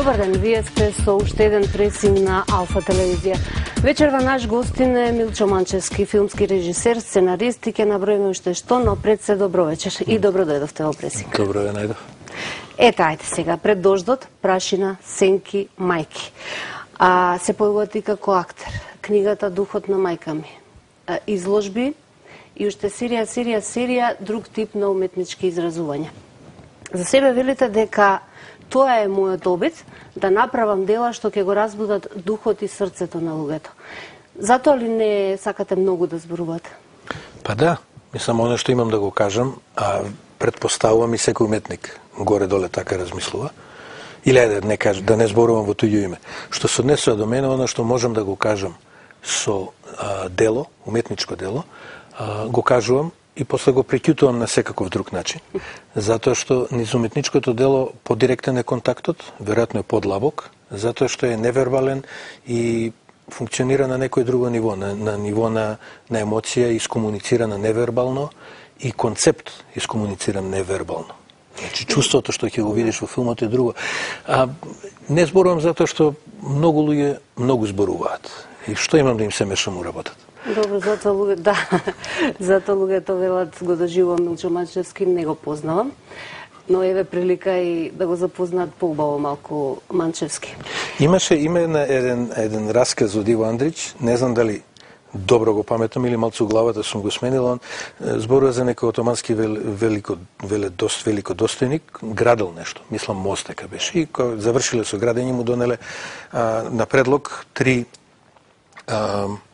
Добар ден, вие сте со уште еден пресинг на Алфа телевизија. Вечерва наш гостин е Милчо Манчевски, филмски режисер, сценарист и ќе наброиме уште што, но пред се добро вечер и добро дојдовте во пресинг. Добро ве најдов. Ете, ајде сега, пред дождот, прашина, сенки, мајки. Се појавувате и како актер. Книгата Духот на мајка ми. Изложби и уште серија, друг тип на уметнички изразувања. За себе велите дека тоа е мојот обид, да направам дела што ќе го разбудат духот и срцето на луѓето. Затоа ли не сакате многу да зборувате? Па да, мислам, оно што имам да го кажам, предпоставувам и секој уметник горе-доле така размислува. Или да не зборувам во туѓо име. Што се однесува до мене, оно што можам да го кажам со дело, уметничко дело, го кажувам и после го приќутувам на секаков друг начин. Затоа што низ уметничкото дело подиректен е контактот, веројатно е подлабок, затоа што е невербален и функционира на некој друго ниво, на ниво на емоција, искомуницирана невербално и концепт искомунициран невербално. Значи, чувството што ќе го видиш во филмот е друго. Не зборувам затоа што многу луѓе многу зборуваат. И што имам да им се мешам у работата? Добро, затоа луѓето велат го доживувам Милчо Манчевски, не го познавам. Но еве прилика и да го запознаат поубаво малку Манчевски. Има еден расказ од Иво Андрич, не знам дали добро го паметам или малку у главата сум го сменил, он зборува за некој отомански великодостојник, градел нешто, мислам мост дека беше, и кога завршиле со градење му донеле на предлог 3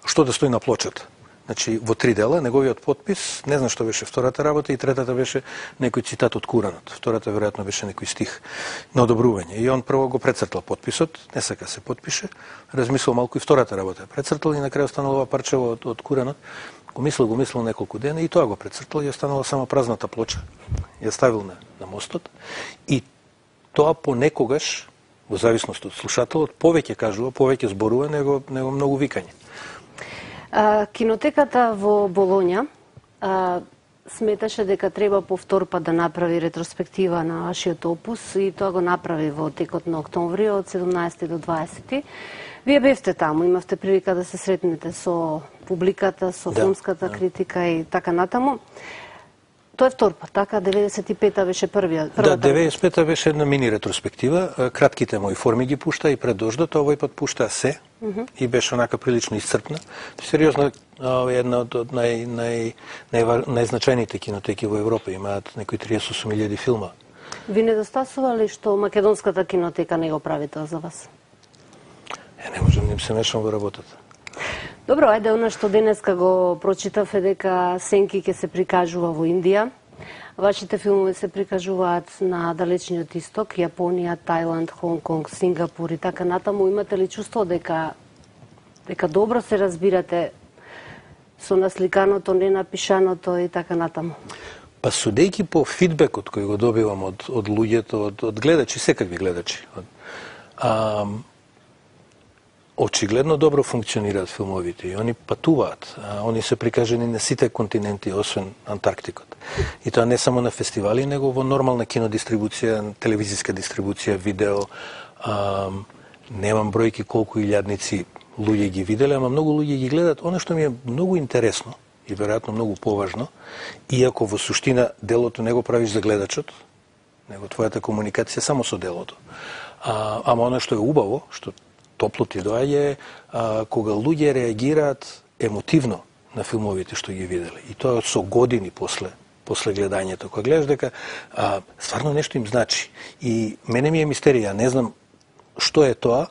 што да стои на плочата. Значи, во 3 дела, неговиот подпис, не знам што беше втората работа, и третата беше некој цитат од Куранот. Втората веројатно беше некој стих на одобрување. И он прво го прецртал подписот, не сака се подпише, размислил малку и втората работа. Прецртал и на крај останало ова парчево од Куранот. Го мислил неколку дена и тоа го прецртал и останала само празната плоча. Ја ставил на мостот и тоа понекогаш, во зависност од слушателот, повеќе кажува, повеќе зборува него многу викање. Кинотеката во Болоња сметаше дека треба повтор пат да направи ретроспектива на вашиот опус и тоа го направи во текот на октомври од 17 до 20. Вие бевте таму, имавте прилика да се сретнете со публиката, со филмската критика и така натаму. Тоа е втор пат, така? 95-та беше првата? Да, 95-та беше една мини ретроспектива. Кратките мои форми ги пушта и пред дождот, овој пат пушта се и беше онака прилично исцрпна. Сериозно, една од најзначајните кинотеки во Европа, имаат некои 38.000 филма. Ви недостасува ли што македонската кинотека не го прави тоа за вас? Не можам да им се мешам во работата. Добро, ајде, она што денеска го прочитав е дека Сенки ќе се прикажува во Индија. Вашите филмови се прикажуваат на далечниот исток, Јапонија, Тајланд, Хонг-Конг, Сингапур и така натаму. Имате ли чувство дека добро се разбирате со насликаното, ненапишаното и така натаму? Па судејќи по фидбекот кој го добивам од луѓето, од гледачи, секакви гледачи, очигледно добро функционираат филмовите и они патуваат. Они се прикажени на сите континенти, освен Антарктикот. И тоа не само на фестивали, него во нормална кинодистрибуција, телевизиска дистрибуција, видео. Немам бројки колку илјадници луѓе ги виделе, ама многу луѓе ги гледат. Оно што ми е многу интересно и веројатно многу поважно, иако во суштина делото не го правиш за гледачот, него твојата комуникација само со делото. Ама оно што е убаво, што топло ти доаѓа кога луѓе реагираат емотивно на филмовите што ги виделе. И тоа со години после гледањето. Кога гледаш дека стварно нешто им значи. И мене ми е мистерија, не знам што е тоа,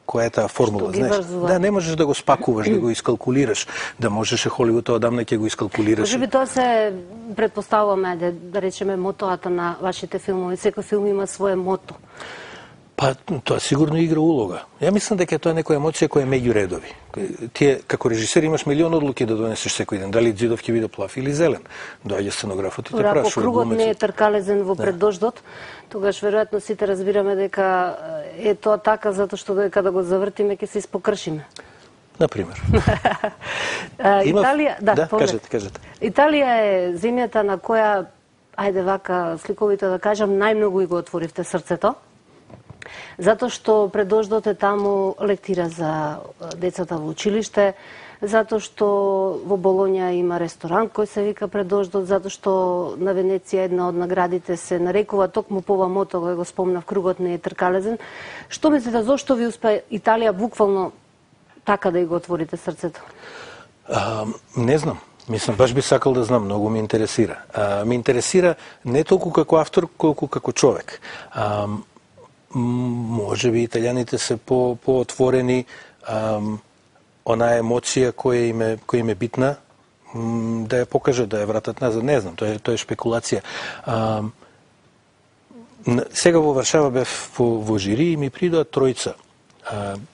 која е таа формула, знаеш? Да, не можеш да го спакуваш, да го искалкулираш, да можеше Холивуд одамна ќе го искалкулираш. Може би тоа се предпоставуваме, да речеме, мотоата на вашите филмови. Секој филм има свое мото. Па, тоа сигурно игра улога. Ја мислам дека тоа е некоја емоција која е меѓу редови. Тие, како режисер, имаш милион одлуки да донесеш секој ден. Дали Дзидов ќе биде плав или зелен. Доаѓа сценографот и те прашува. Ако кругот не е тркалезен во преддождот, тогаш веројатно сите разбираме дека е тоа така, затоа што дека да го завртиме ќе се испокршиме. Например. Италија, кажете. Италија е земјата на која, ајде вака сликовито да кажам, најмногу и го отворивте срцето. Затоа што предождот е таму лектира за децата во училиште, затоа што во Болонја има ресторан кој се вика Предождот, затоа што на Венеција една од наградите се нарекува токму по ова мото, кој го спомнав, кругот не е тркалезен. Што мислите, зошто ви успе Италија буквално така да и го отворите срцето? Не знам. Мислам, баш би сакал да знам, многу ме интересира. Ме интересира не толку како автор, колку како човек. Може би италијаните се поотворени, онаа емоција која им е битна, да ја покажат, да ја вратат назад. Не знам, тоа е шпекулација. Сега во Варшава бев во жири и ми придоа тројца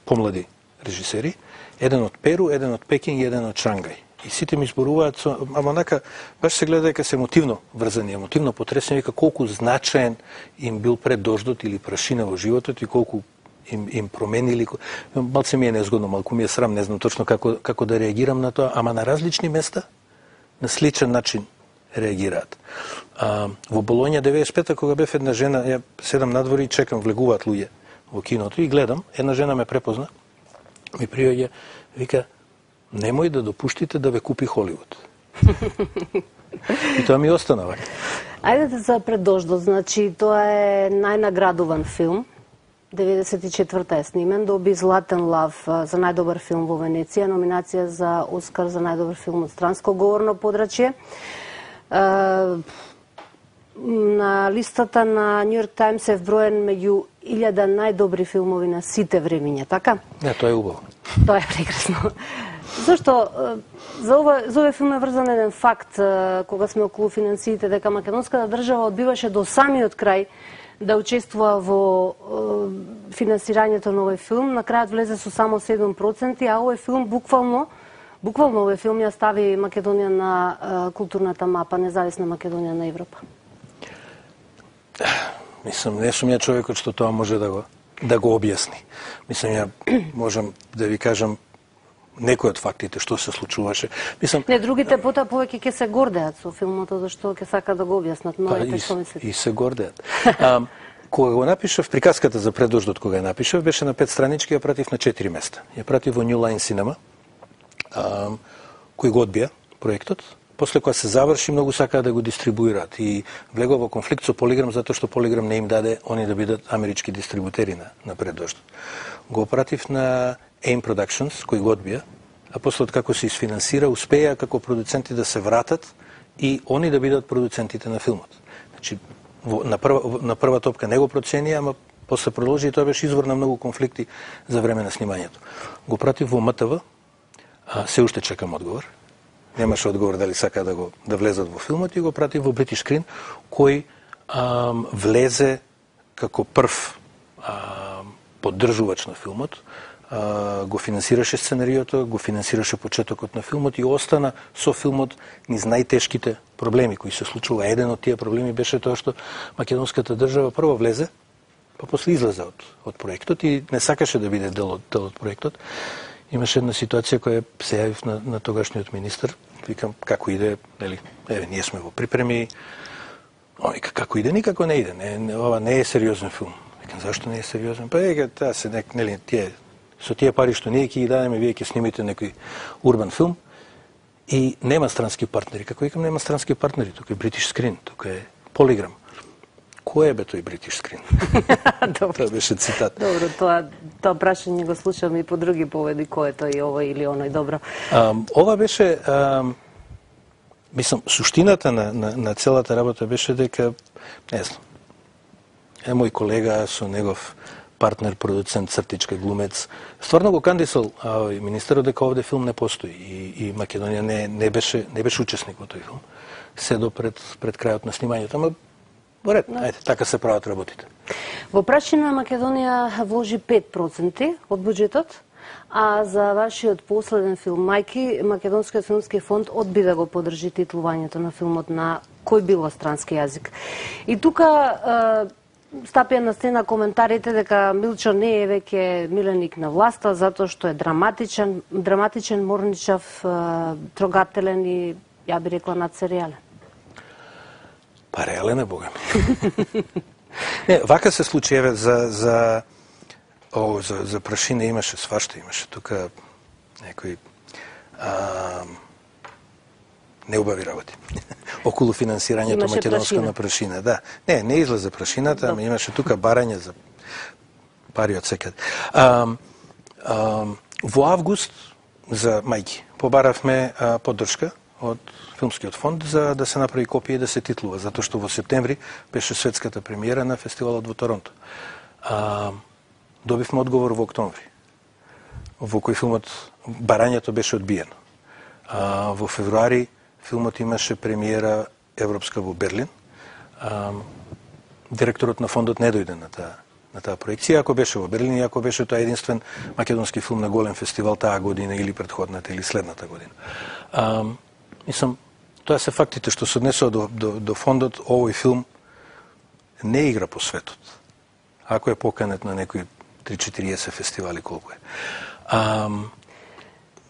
помлади режисери, еден од Перу, еден од Пекинг и еден од Шангај. И сите ми зборуваат, ама онака, баш се гледа дека се емотивно врзани, емотивно потресени, вика колку значаен им бил Предождот или Прашина во животот и колку им променили. Малце ми е незгодно, малку ми е срам, не знам точно како да реагирам на тоа, ама на различни места, на сличен начин реагираат. Во Болонја 95-та, кога бев една жена, ја седам надвор и чекам, влегуваат луѓе во киното и гледам, една жена ме препозна, ми приоѓа, вика, немој да допуштите да ве купи Холивуд. И тоа ми остана вака. Ајдете за Предождот, значи тоа е најнаградуван филм. 94-та е снимен, доби Златен лав за најдобар филм во Венеција, номинација за Оскар за најдобар филм од странско говорно подрачје. На листата на Нью Йорк Таймс е вброен меѓу 1000 најдобри филмови на сите времиња, така? Не, тоа е убаво. Тоа е прекрасно. Зошто за овој филм е врзан еден факт, кога сме околу финансиите, дека македонската држава одбиваше до самиот крај да учествува во финансирањето на овој филм. На крајот влезе со само 7%, а овој филм буквално овој филм ја стави Македонија на културната мапа, независна Македонија на Европа. Мислам, не сум ја човекот што тоа може да го објасни. Мислам, ја можам да ви кажам некои од фактите што се случуваше. Мислам, не, другите потоа повеќе ќе се гордеат со филмот, зашто ќе сака да го објаснат. Новите што мислите? И се гордеат. Кога го напишав, приказката за Предождот кога ја напишав, беше на 5 странички, ја пратив на 4 места. Ја пратив во New Line Cinema, кој го одбија проектот. После кога се заврши, многу сакаа да го дистрибуираат и влегува во конфликт со Полиграм затоа што Полиграм не им даде они да бидат амерички дистрибутери на Предождот. Го пратив на AIM Productions, кој го одбија, а после како се isfinansira, успеа како продуценти да се вратат и они да бидат продуцентите на филмот. Значи, на прва топка не го проценија, ама после продолжи и тоа беше извор на многу конфликти за време на снимањето. Го пратив во МТВ, се уште чекам одговор. Немаше одговор дали сака да влезат во филмот и го пратив во British Screen, кој влезе како прв поддржувач на филмот, го финансираше сценариото, го финансираше почетокот на филмот и остана со филмот низ најтешките проблеми кои се случува. Еден од тие проблеми беше тоа што македонската држава прво влезе, па после излезе од проектот и не сакаше да биде дел од проектот. Имаше една ситуација која се јавив на тогашниот министар, викам како иде, нели, еве ние сме во припреми. Он вика како иде, никако не иде. Ова не е сериозен филм. Викам зашто не е сериозен? Па таа се нели тие со тие пари што ние ќе ги дадеме, вие ќе снимите некој урбан филм и нема странски партнери. Како викам, нема странски партнери, тука е British Screen, тука е Полиграм. Кој е бе тој British Screen? Тоа беше цитат. Добро, тоа прашање го слушам и по други поведи, кој е тој овој или оној, добро. Ова беше, мислам, суштината на целата работа беше дека, не знам, мој колега со негов партнер, продуцент, цртичка, глумец, стварно го кандисал министерот дека овде филм не постои и Македонија не беше учесник во тој филм. Седо пред крајот на снимањето, ама во ред, ајде, така се прават работите. Во Прашина Македонија вложи 5% од буџетот, а за вашиот последен филм Мајки, Македонскиот филмски фонд одби да го поддржи титлувањето на филмот на кој било странски јазик. И тука стапија на сцена коментарите дека Милчо не е веќе миленик на власта затоа што е драматичен, морничав, трогателен и ја би рекла надсеријален. Па реален е, бога ми. Не, вака се случи, еве, за прашина имаше свашта, имаше тука некои неубави работи. Околу финансирањето македонско на прашина. Да. Не излезе прашината, ама имаше тука барање за пари од секаде. Во август за мајки побаравме поддршка од Филмскиот фонд за да се направи копија и да се титлува, затоа што во септември беше светската премиера на фестивалот во Торонто. Добивме одговор во октомври, во кој филмот барањето беше одбиено. Во февруари филмот имаше премиера европска во Берлин. Директорот на фондот не дојде на таа проекција, ако беше во Берлин и ако беше тоа единствен македонски филм на голем фестивал таа година или претходната или следната година. Мислам, тоа се фактите што се однесува до фондот. Овој филм не игра по светот. Ако е поканет на некои 3-40 фестивали, колку е.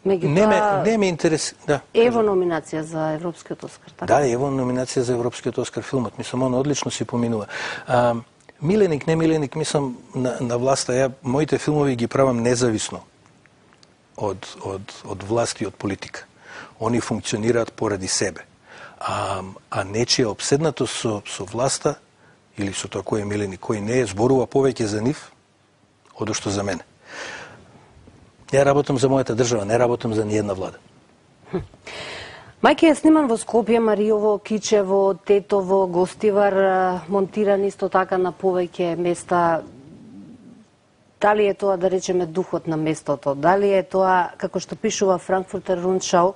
Не ме интерес... Да, ево номинација за Европскиот Оскар, така? Да, ево номинација за Европскиот Оскар филмот. Мислам, он одлично си поминува. Миленик, не миленик, мислам, на власта, ја моите филмови ги правам независно од власт и од политика. Они функционираат поради себе. А нечија обседнатост со власта или со тоа кој е милен и кој не е, зборува повеќе за нив одошто за мене. Ја работам за мојата држава, не работам за ниедна влада. Мајки е сниман во Скопје, Мариово, Кичево, Тетово, Гостивар, монтиран исто така на повеќе места. Дали е тоа, да речеме, духот на местото? Дали е тоа, како што пишува Франкфуртер Рундшау,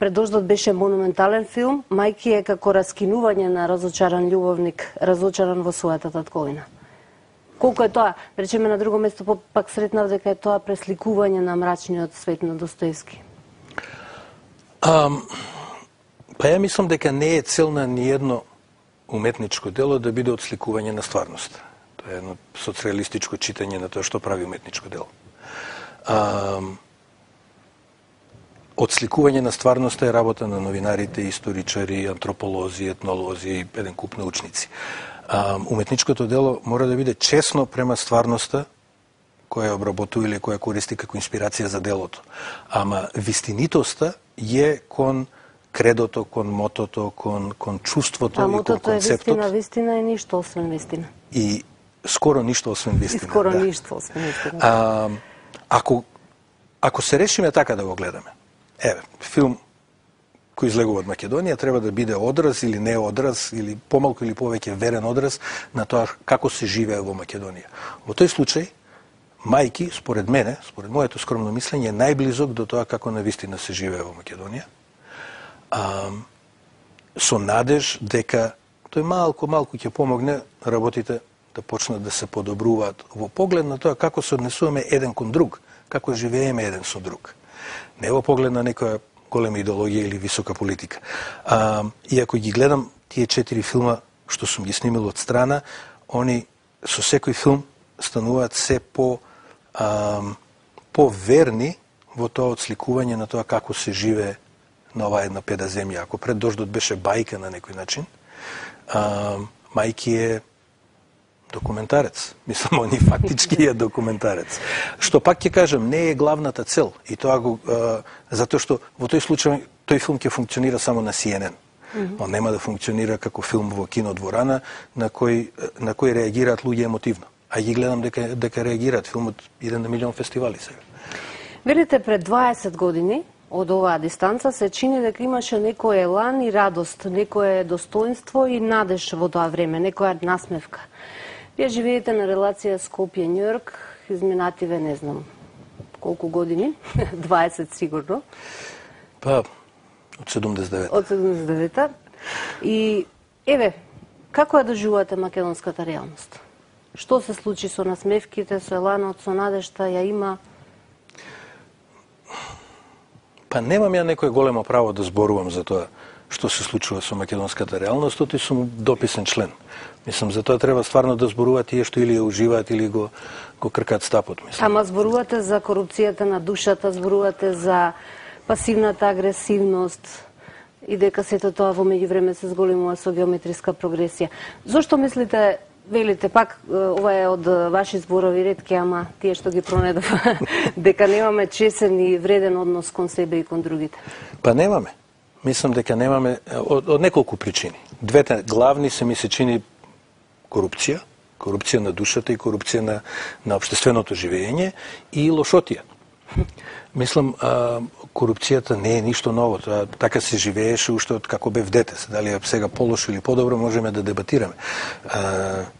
Предождот беше монументален филм, мајки е како раскинување на разочаран љубовник, разочаран во својата татковина. Колку е тоа, речеме на друго место, пак сретнав дека е тоа пресликување на мрачниот свет на Достоевски? Па ја мислам дека не е цел на ниедно уметничко дело да биде отсликување на стварност. Тоа е едно соцреалистичко читање на тоа што прави уметничко дело. Отсликување на стварноста е работа на новинарите, историчари, антрополози, етнолози и еден куп научници. Уметничкото дело мора да биде честно према стварноста која ја обработува или која користи како инспирација за делото. Ама вистинитоста е кон кредото, кон мотото, кон чувството и кон концептот. Мотото е вистина и ништо освен вистина. И скоро ништо освен вистина. И скоро ништо освен вистина. Ако се решиме така да го гледаме, еве, филм кој излегува од Македонија треба да биде одраз или не одраз, или помалку или повеќе верен одраз на тоа како се живее во Македонија. Во тој случај, мајки, според мене, според моето скромно мислење, е најблизок до тоа како навистина се живее во Македонија. Со надеж дека тој малку ќе помогне работите да почнат да се подобруваат во поглед на тоа како се однесуваме еден кон друг, како живееме еден со друг. Не во поглед на некоја голема идеологија или висока политика. И ако ги гледам тие 4 филма што сум ги снимил од страна, они со секој филм стануваат се поверни во тоа отсликување на тоа како се живее на оваа една педа земја. Ако Предождот беше бајка на некој начин, мајки е документарец. Мислам, они фактички е документарец. Што пак ќе кажам, не е главната цел. И тоа го затоа што во тој случај тој филм ќе функционира само на CNN. Он нема да функционира како филм во кинодворана на кој реагираат луѓе емотивно. А ги гледам дека реагираат. Филмот иде на милион фестивали сега. Велите, пред 20 години од оваа дистанца се чини дека имаше некој елан и радост, некое достоинство и надеж во тоа време, некоја насмевка. Вие живеете на релација Скопје-Њујорк, изминативе не знам колку години, 20 сигурно. Па, од 79. Од 79. И, еве, како ја доживувате македонската реалност? Што се случи со насмевките, со еланот, со надежта, ја има? Па немам ја некој големо право да зборувам за тоа што се случува со македонската реалност, оти сум дописен член. Мислам, за тоа треба стварно да зборуваат тие што или ја уживаат, или го кркаат стапот. Мислам. Ама зборувате за корупцијата на душата, зборувате за пасивната агресивност и дека сето тоа во меѓувреме се зголемува со геометриска прогресија. Зошто мислите велите пак, ова е од ваши зборови ретки, ама тие што ги пронедов, дека немаме чесен и вреден однос кон себе и кон другите. Па немаме. Мислам дека немаме од неколку причини. Двете главни ми се чини корупција на душата и корупција на општественото живење и лошотија. Мислам, корупцијата не е ништо ново. Тоа така се живееше уште од како бев дете. Дали е сега полошо или подобро, можеме да дебатираме.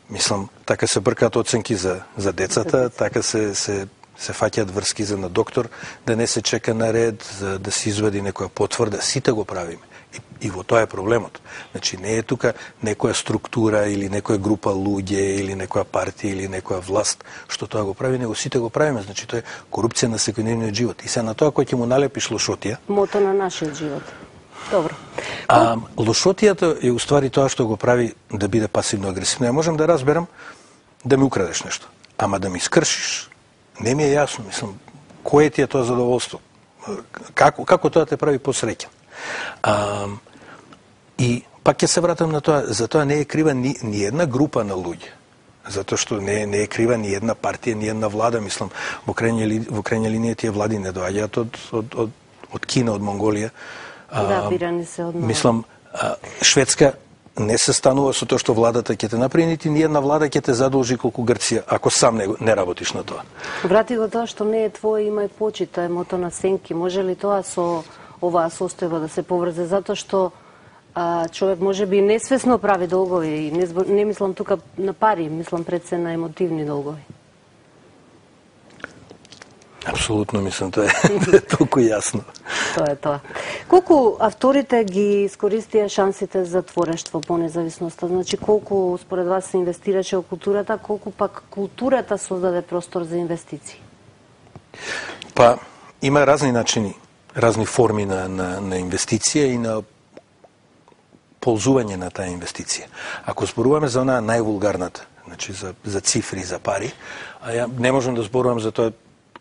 Мислам, така се бркаат оценки за децата, така се фаќаат врски за на доктор, да не се чека на ред, за да се извади некоја потврда. Сите го правиме. И во тоа е проблемот. Значи, не е тука некоја структура или некоја група луѓе или некоја партија или некоја власт што тоа го прави, него сите го правиме. Значи, тоа е корупција на секојдневниот живот. И се на тоа кој ќе му налепиш лошотија. Мото на нашиот живот. Добро. Лошотијата е уствари тоа што го прави да биде пасивно агресивно. Ја можам да разберам да ми украдеш нешто, ама да ми скршиш, не ми е јасно. Мислам, кое ти е тоа задоволство? Како тоа те прави посреќен? И пак ќе се вратам на тоа, за тоа не е крива ни една група на луѓе. Затоа што не е крива ни една партија, ни една влада, мислам, во крајна линија тие влади не доаѓаат од Кина, од Монголија. Да, бирани се од мислам, Шведска не се станува со тоа што владата ќе те направи, нити ни една влада ќе те задолжи колку Грција, ако сам не работиш на тоа. Врати го тоа што не е твое, имај почит, тоа е мото на Сенки. Може ли тоа со оваа состојба да се поврзе, затоа што човек може би несвесно прави долгови и не мислам тука на пари, мислам пред се на емотивни долгови. Апсолутно мислам, тоа е толку јасно. Тоа е тоа. Колку авторите ги искористија шансите за творештво по независноста? Значи, колку според вас се инвестираше во културата, колку пак културата создаде простор за инвестиции? Па, има разни начини, разни форми на инвестиција и на ползување на таа инвестиција. Ако зборуваме за онаа највулгарната, значи за цифри, за пари, ја не можам да зборувам за тоа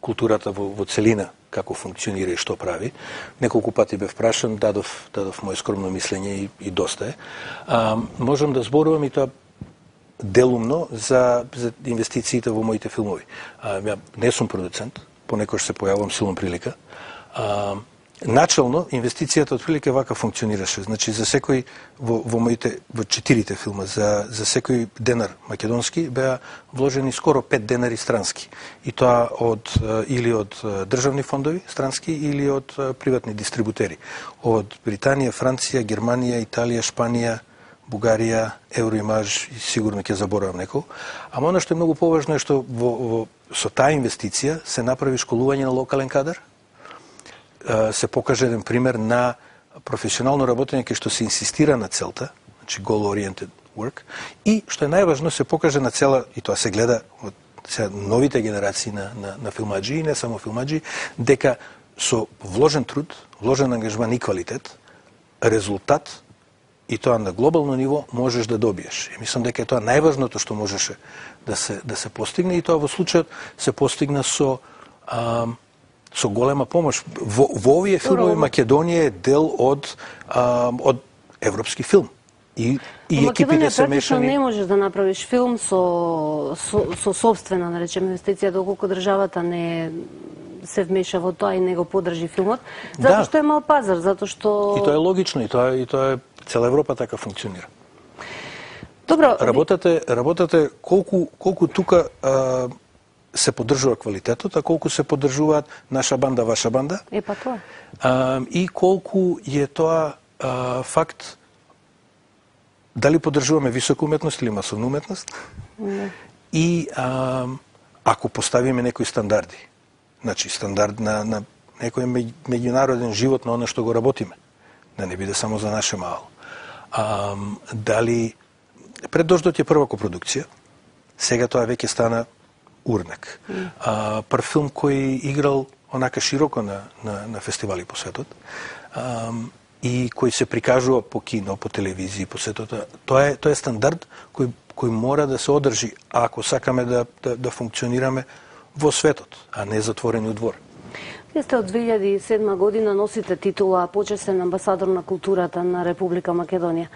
културата во целина, како функционира и што прави. Неколку пати бев прашан, дадов моje скромно мислење и доста е. Можам да зборувам и тоа делумно за инвестициите во моите филмови. Ја не сум продуцент, понекогаш се појавувам силом прилика. Начално, инвестицијата од прилика вака функционираше. Значи, за секој, во 4 филма, за секој денар македонски, беа вложени скоро 5 денари странски. И тоа или од државни фондови странски, или од приватни дистрибутери. Од Британија, Франција, Германија, Италија, Шпанија, Бугарија, Евроимаж, и сигурно ќе заборавам некој. Ама оно што е многу поважно е што со таа инвестиција се направи школување на локален кадар, се покаже еден пример на професионално работење кај што се инсистира на целта, значи goal-oriented work, и што е најважно се покаже на цела, и тоа се гледа од новите генерации на филмаджи и не само филмаджи, дека со вложен труд, вложен ангажман и квалитет, резултат и тоа на глобално ниво можеш да добиеш. И мислам дека е тоа најважното што можеше да се постигне, и тоа во случајот се постигна со голема помош. Во овие филмови Македонија е дел од европски филм. И екипите се мешани. Не можеш да направиш филм со собствена, да речеме, инвестиција, доколку државата не се вмеша во тоа и не го подржи филмот, затоа што е мал пазар, затоа што... И тоа е логично, и тоа е цела Европа така функционира. Добро. Работата колку тука се поддржува квалитетот, а колку се поддржуваат наша банда, ваша банда. Па тоа. И колку е тоа факт дали поддржуваме висока уметност или масовна уметност. И ако поставиме некои стандарди, значи стандард на некој меѓународен живот на оно што го работиме, да не биде само за наше мало. Дали пред дождот е прва копродукција, сега тоа веќе стана урнак. Прв филм кој играл онака широко на фестивали по светот и кој се прикажува по кино, по телевизија, по светот. Тоа е стандард кој мора да се одржи ако сакаме да функционираме во светот, а не затворени двор. Вие сте од 2007 година, носите титула почесен амбасадор на културата на Република Македонија.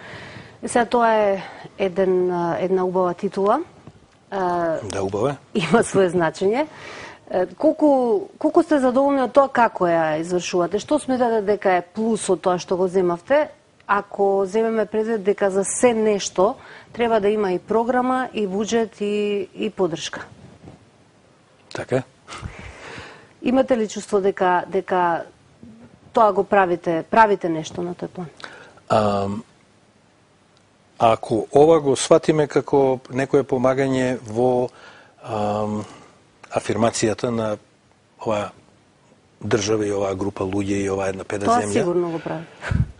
Сега тоа е една убава титула. Да, убава. Има свое значење. Колку сте задоволни од тоа како ја извршувате? Што сметате дека е плюс од тоа што го земавте? Ако земеме предвид дека за се нешто треба да има и програма, и буџет, и поддршка. Така. Имате ли чувство дека тоа го правите нешто на тој план? Ако ова го сватиме како некое помагање во афирмацијата на оваа држава и оваа група луѓе и оваа една педа земја. Тоа сигурно го прави.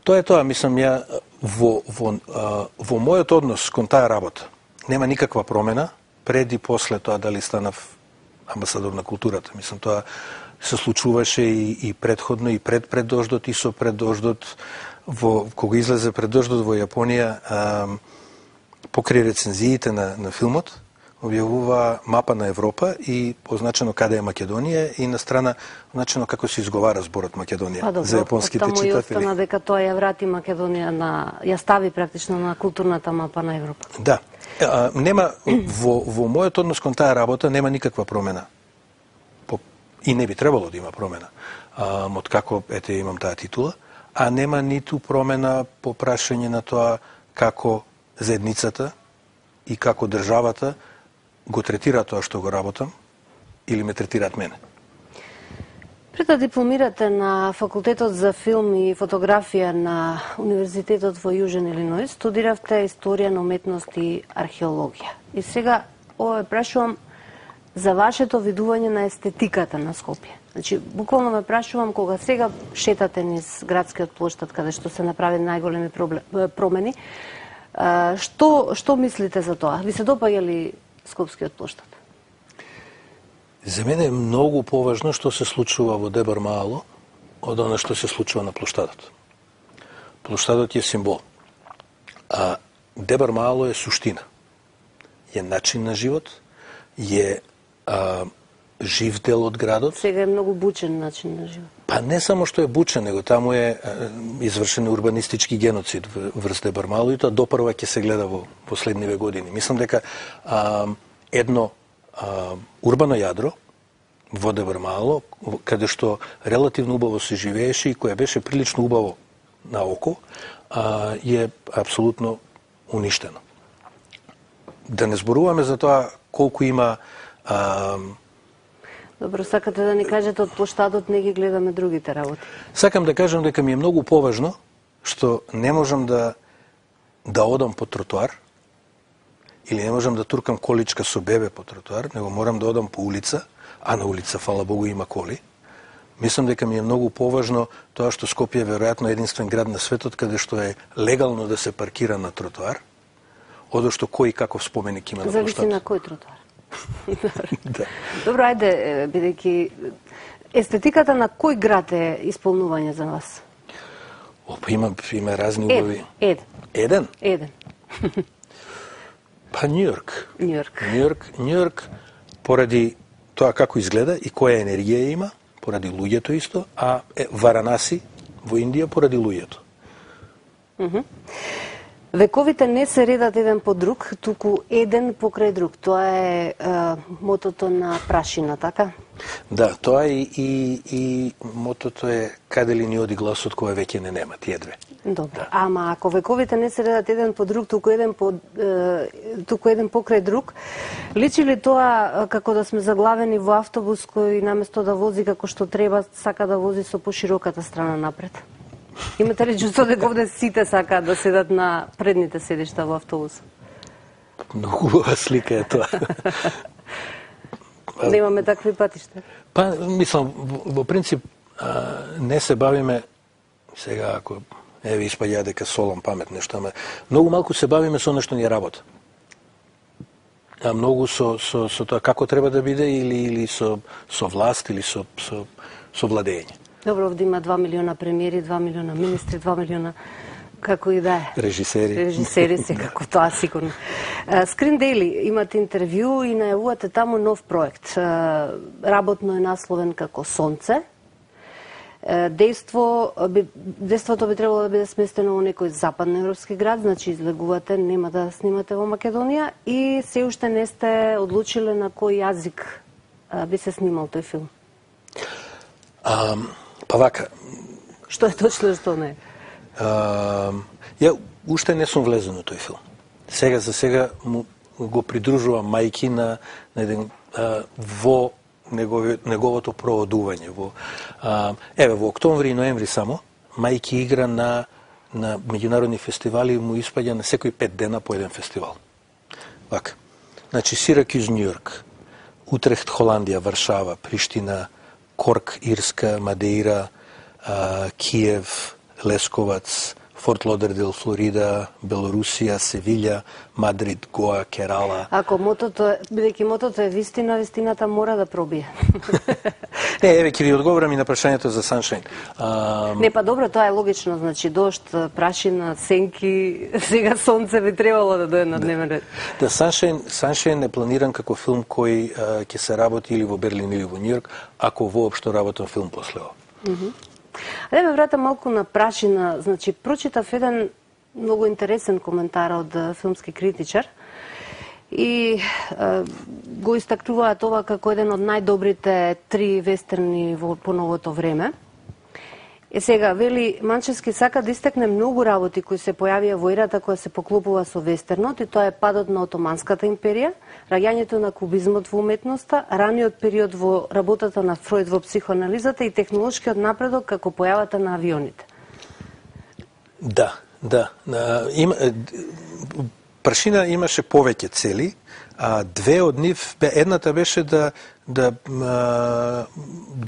Тоа е тоа, мислам, ја во мојот однос кон таа работа нема никаква промена пред и после тоа дали станав амбасадор на културата. Мислам, тоа се случуваше и предходно, и пред дождот, и со пред дождот. Кога излезе пред дождот во Јапонија, покрај рецензиите на филмот, објавува мапа на Европа и означено каде е Македонија и на страна означено како се изговара зборот Македонија за јапонските читатели. Таму и остана дека тоа ја врати Македонија ја стави практично на културната мапа на Европа. Да. Нема во мојот однос кон таа работа нема никаква промена. И не би требало да има промена. Од како имам таа титула, а нема ниту промена по прашање на тоа како заедницата и како државата го третира тоа што го работам или ме третираат мене. Пред да дипломирате на Факултетот за филм и фотографија на Универзитетот во Јужен Илиноис, студиравте историја на уметност и археологија. И сега ова прашувам за вашето видување на естетиката на Скопје. Значи, буквално ме прашувам кога сега шетате низ градскиот плоштад каде што се направи најголеми промени, што мислите за тоа? Ви се допаѓа ли Скопскиот плоштад? За мене е многу поважно што се случува во Дебар Маало од она што се случува на плоштадот. Плоштадот е символ. А Дебар Маало е суштина. Е начин на живот, е жив дел од градот. Сега е многу бучен начин на живот. Па не само што е бучен, него таму е извршен урбанистички геноцид врз Дебар Маало и тоа допрва ќе се гледа во последниве години. Мислам дека едно урбано јадро во Дебар Маало, каде што релативно убаво се живееше и кое беше прилично убаво на око, е апсолутно уништено. Да не зборуваме за тоа колку има Добро, сакате да ни кажете од плоштадот не ги гледаме другите работи. Сакам да кажам дека ми е многу поважно што не можам да одам по тротоар или не можам да туркам количка со бебе по тротоар, него морам да одам по улица, а на улица, фала Богу, има коли. Мислам дека ми е многу поважно тоа што Скопје е веројатно единствен град на светот каде што е легално да се паркира на тротоар, одошто кој каков споменик има на плоштадот. Зависи на кој тротоар. Да. Добро, ајде, бидејќи естетиката на кој град е исполнување за вас? Опа, има разни убави. Еден? Еден. Па Њујорк. Њујорк, поради тоа како изгледа и која енергија има, поради луѓето исто, а Варанаси во Индија поради луѓето. Вековите не се редат еден по друг, туку еден покрај друг. Тоа е мотото на прашина, така? Да, тоа и мотото е каде ли ни оди гласот кој веќе не нема, тие две. Добро, да. Ама ако вековите не се редат еден по друг, туку еден покрај друг, личи ли тоа како да сме заглавени во автобус кој наместо да вози како што треба, сака да вози со пошироката страна напред? Имате ли чувство дека овде сите сакаат да седат на предните седишта во автобус? Многу хубава слика е тоа. Немаме такви патишта? Па, мислам, во принцип, не се бавиме, сега ако испаѓа дека солам памет нешто, ама многу малку се бавиме со нешто ни работа. А многу со тоа како треба да биде или со власт или со владење. Добро, овде има 2 милиона премиери, 2 милиона министри, 2 милиона како и да е. Режисери секако, тоа сигурно. Screen Daily имате интервју и најавувате таму нов проект. Работно е насловен како Сонце. Дејството би требало да биде сместено во некој западноевропски град, значи излегувате, нема да снимате во Македонија и се уште не сте одлучиле на кој јазик би се снимал тој филм. Па вака. Што е точно, што не? Ја уште не сум влезен во тој филм. Сега за сега го придружувам мајки на еден во неговото проводување. Во октомври и ноември само, мајки игра на меѓународни фестивали, му испаѓа на секој 5 дена по еден фестивал. Вака. Значи, Сиракјуз, Њујорк, Утрехт, Холандија, Варшава, Приштина, Корк, Ирска, Мадеира, Киев, Лесковац, Форт Лодердейл, Флорида, Белорусија, Севилја, Мадрид, Гоа, Керала. Ако бидејќи мотото е вистина, вистината мора да пробие. Не, еве ќе ви одговорам и на прашањето за Sunshine. Не, па добро, тоа е логично, значи дожд, прашина, сенки, сега сонце би требало да дојде на дневен ред. Да, Sunshine е планиран како филм кој ќе се работи или во Берлин или во Њујорк, ако воопшто работам филм после ова. Да ме вратам малку на прашина. Значи, прочитав еден многу интересен коментар од филмски критичар и го истакнуваат ова како еден од најдобрите 3 вестерни по новото време. Сега, вели, Манчевски сака да истакне многу работи кои се појавија во ерата која се поклопува со вестернот, и тоа е падот на Отоманската империја, раѓањето на кубизмот во уметноста, раниот период во работата на Фројд во психоанализата и технолошкиот напредок како појавата на авионите. Да. Прашина имаше повеќе цели, а две од нив, едната беше да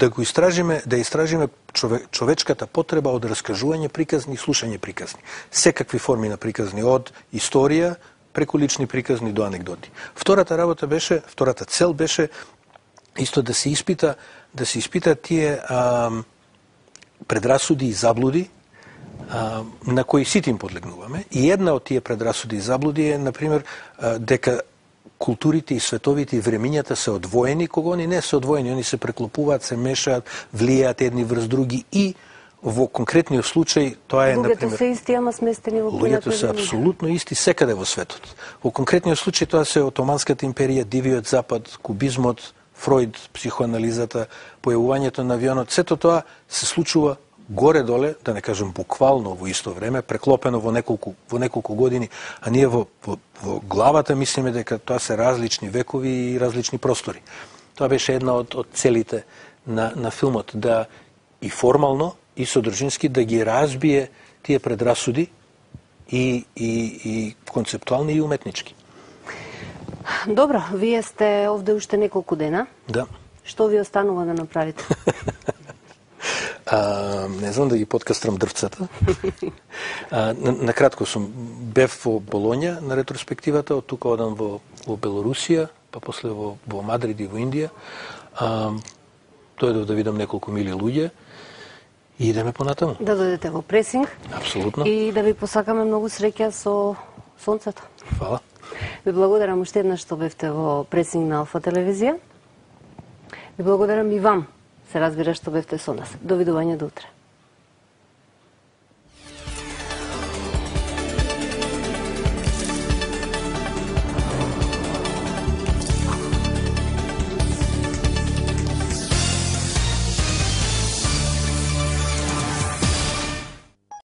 го истражиме, човечката потреба од раскажување приказни и слушање приказни. Секакви форми на приказни, од историја преку лични приказни до анегдоти. Втората цел беше исто да се испита тие предрасуди и заблуди на кои сите им подлегнуваме. И една од тие предрасуди и заблуди е, например, дека културите и световите и времињата се одвоени, кога они не се одвоени, они се преклопуваат, се мешаат, влијаат едни врз други и во конкретниот случај тоа е, например... Луѓето се исти, ама сместени во Луѓето се апсолутно исти секаде во светот. Во конкретниот случај тоа се Отоманската империја, Дивиот запад, кубизмот, Фројд, психоанализата, појавувањето на авионот, сето тоа се случува горе-доле, да не кажем буквално во исто време, преклопено во неколку години, а ние во главата мислиме дека тоа се различни векови и различни простори. Тоа беше една од целите на филмот, да и формално, и содржински да ги разбие тие предрасуди и концептуални и уметнички. Добро, вие сте овде уште неколку дена. Да. Што ви останува да направите? Не знам да ги подкастрам дрвцата. Накратко бев во Болоња на ретроспективата, од тука одам во Белорусија, па после во Мадрид и во Индија. Дојдов да видам неколку мили луѓе и идеме понатаму. Да дојдете во пресинг. Апсолутно. И да ви посакаме многу среќа со сонцето. Фала. Ви благодарам уште еднаш што бевте во пресинг на Алфа телевизија. Ви благодарам и вам, се разбира, што бевте со нас. Довидување до утре.